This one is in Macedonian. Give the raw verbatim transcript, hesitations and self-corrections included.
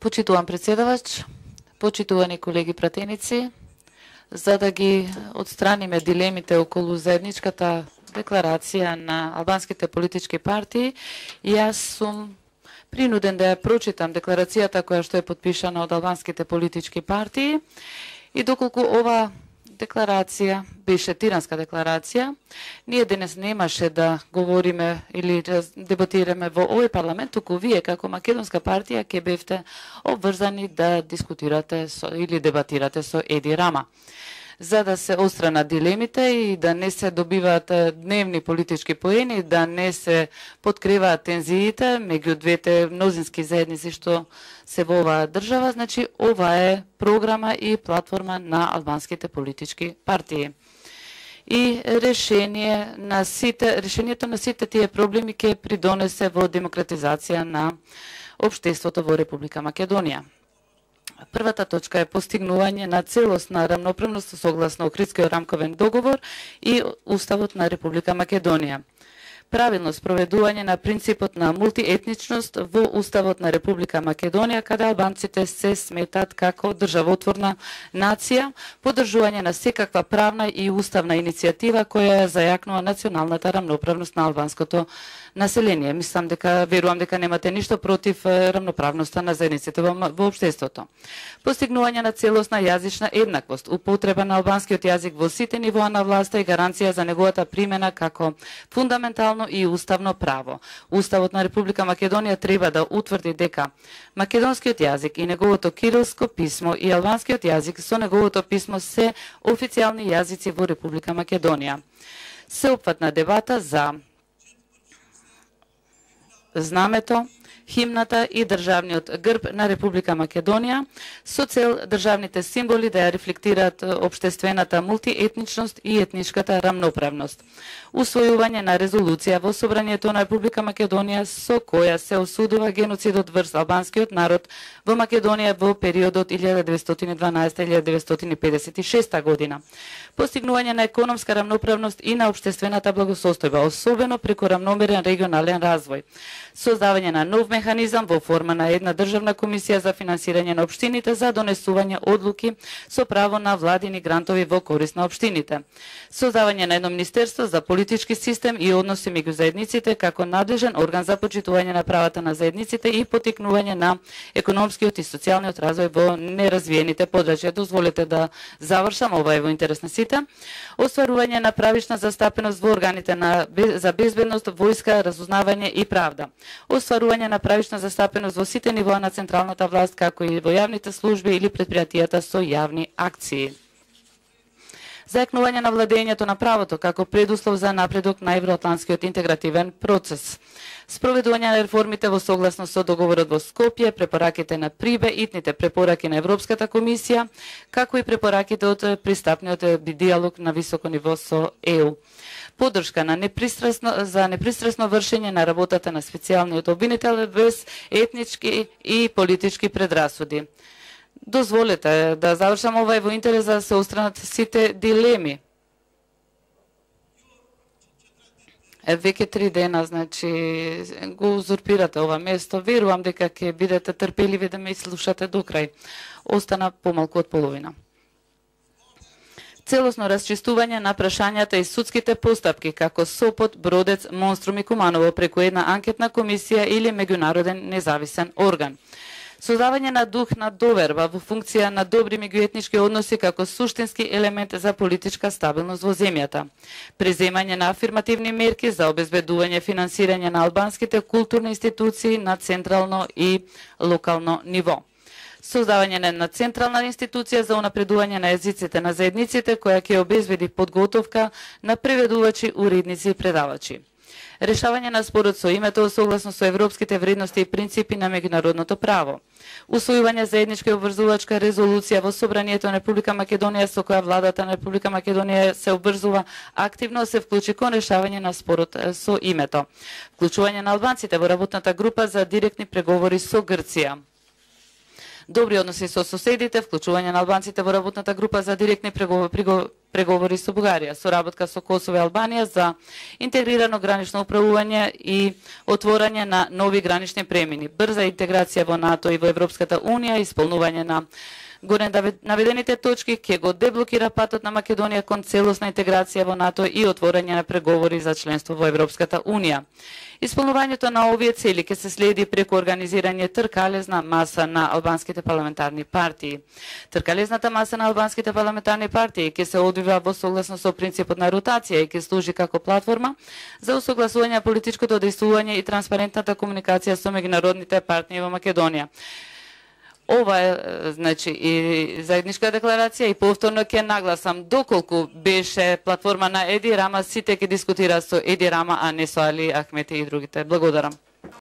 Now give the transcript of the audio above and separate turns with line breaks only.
Почитуван председавач, почитувани колеги пратеници, за да ги отстраниме дилемите околу заедничката декларација на албанските политички партии, јас сум принуден да ја прочитам декларацијата која што е подпишана од албанските политички партии и доколку ова декларација беше тиранска декларација, ние денес немаше да говориме или да дебатираме во овој парламент, туку вие како македонска партија ќе бевте обврзани да дискутирате со, или дебатирате со Еди Рама, за да се отстранат дилемите и да не се добиваат дневни политички поени, да не се подкриваат тензиите меѓу двете мнозински заедници што се во оваа држава. Значи, ова е програма и платформа на албанските политички партии. И решение на сите, решението на сите тие проблеми ќе придонесе во демократизација на општеството во Република Македонија. Првата точка е постигнување на целосна рамноправност согласно Охридскиот рамковен договор и Уставот на Република Македонија. Правилно спроведување на принципот на мултиетничност во Уставот на Република Македонија, каде албанците се сметат како државотворна нација, поддржување на секаква правна и уставна иницијатива која ја зајакнува националната рамноправност на албанското население. Мислам дека, верувам дека немате ништо против рамноправноста на заедниците во, во општеството. Постигнување на целосна јазична еднаквост, употреба на албанскиот јазик во сите нивоа на власта и гаранција за неговата примена како фундаментално и уставно право. Уставот на Република Македонија треба да утврди дека македонскиот јазик и неговото кирилско писмо и албанскиот јазик со неговото писмо се официјални јазици во Република Македонија. Сеопфатна дебата за знамето, химната и државниот грб на Република Македонија со цел државните символи да ја рефлектираат општествената мултиетничност и етничката рамноправност. Усвојување на резолуција во Собранието на Република Македонија со која се осудува геноцидот врз албанскиот народ во Македонија во периодот илјада деветстотини и дванаесета до илјада деветстотини педесет и шеста година. Постигнување на економска рамноправност и на општествената благосостојба, особено преку рамномерен регионален развој. Создавање на нов механизам во форма на една државна комисија за финансирање на општините за донесување одлуки со право на владини грантови во корист на општините. Создавање на едно министерство за политички систем и односи меѓу заедниците како надлежен орган за почитување на правата на заедниците и поттикнување на економскиот и социјалниот развој во неразвиените подрачја. Дозволете да завршам, ова е во интерес на сите. Остварување на правична застапеност во органите на, за безбедност, војска, разузнавање и правда. Остварување на правична застапеност во сите нивоа на централната власт, како и во јавните служби или предпријатијата со јавни акции. Зајакнување на владењето на правото како предуслов за напредок на евроатлантскиот интегративен процес. Спроведување на реформите во согласно со договорот во Скопје, препораките на ПРИБЕ, итните препораки на Европската комисија, како и препораките од пристапниот диалог на високо ниво со Е У. Поддршка на непристрасно, за непристрасно вршење на работата на специјалниот обвинител без етнички и политички предрасуди. Дозволете да завршам, ова е во интерес да се отстранат сите дилеми. Е, веќе три дена, значи, го узурпирате ова место. Верувам дека ќе бидете трпеливи да ме слушате до крај. Остана помалку од половина. Целосно расчистување на прашањата и судските постапки, како Сопот, Бродец, Монструм и Куманово преку една анкетна комисија или меѓународен независен орган. Создавање на дух на доверба во функција на добри меѓуетнички односи како суштински елемент за политичка стабилност во земјата. Преземање на афирмативни мерки за обезбедување финансирање на албанските културни институции на централно и локално ниво. Создавање на една централна институција за унапредување на езиците на заедниците која ќе обезбеди подготовка на преведувачи, уредници и предавачи. Решавање на спорот со името согласно со европските вредности и принципи на меѓународното право. Усвојување заедничка обврзувачка резолуција во Собранието на Република Македонија со која владата на Република Македонија се обврзува активно се вклучи кон решавање на спорот со името. Вклучување на албанците во работната група за директни преговори со Грција. Добри односи со соседите, вклучување на албанците во работната група за директни преговори преговори со Бугарија, соработка со Косово и Албанија за интегрирано гранично управување и отворање на нови гранични премини, брза интеграција во НАТО и во Европската Унија, исполнување на горе наведените точки ќе го деблокира патот на Македонија кон целосна интеграција во НАТО и отворање на преговори за членство во Европската Унија. Исполнувањето на овие цели ќе се следи преку организирање тркалезна маса на албанските парламентарни партии. Тркалезната маса на албанските парламентарни партии ќе се одвива во согласно со принципот на ротација и ќе служи како платформа за усогласување на политичкото действување и транспарентната комуникација со меѓународните партнери во Македонија. Ова е, значи, и заедничка декларација и повторно ќе нагласам доколку беше платформа на Еди Рама, сите ќе дискутира со Еди Рама, а не со Али Ахмети и другите. Благодарам.